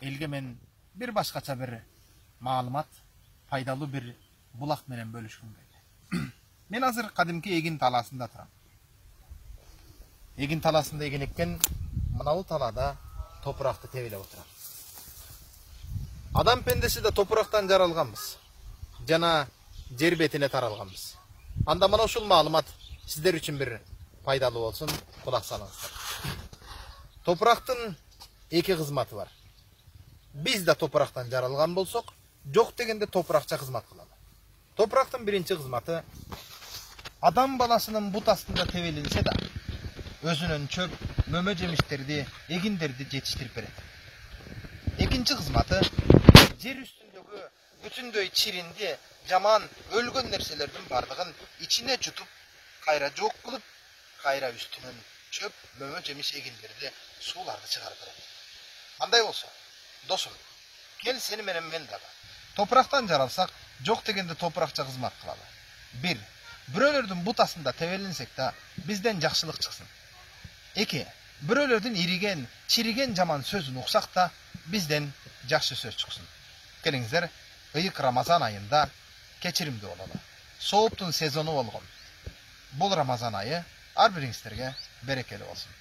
элге мен бир башкача бир маалымат, пайдалуу бир булак менен бөлүшкүм келди. Мен азыр кадимки эгин талаасында турам. Эгин талаасында эгин эккен, мынабу талаада топуракты тебелеп отурам. Адам пендеси да топурактан жаралганбыз. Жана жер бетине таралганбыз. Анда мына ушул маалымат сиздер үчүн бир пайдалуу болсун, кулак салыңыздар. Топурактын эки кызматы бар. Биз да топурактан жаралган болсок, жок дегенде топуракча кызмат кылалы. Топурактын биринчи кызматы адам баласынын бут астында тебелинсе да, өзүнүн чөп, мөмө жемиштерди, эгиндерди жетиштирип берет. Экинчи кызматы жер үстүндөгү бүтүндөй чиринди, жаман, өлгөн нерселердин бардыгын ичине жутуп, кайра жок кылып, кайра үстүнөн чөп, мөмө жемиш эгиндерди, сууларды чыгарып берет. Андай болсо, досум, кел сени менен мен дагы топурактан жаралсак, жок дегенде топуракча кызмат кылалы. 1. Бирөөлөрдүн бут астында тебелинсек да, бизден жакшылык чыксын. 2. Бирөөлөрдүн ириген, чириген жаман сөзүн уксак да, бизден жакшы сөз чыксын. Келиңиздер, ыйык Рамазан айында кечиримдүү бололу. Сооптун сезону болгон. Бул Рамазан айы ар бириңиздерге берекелүү болсун.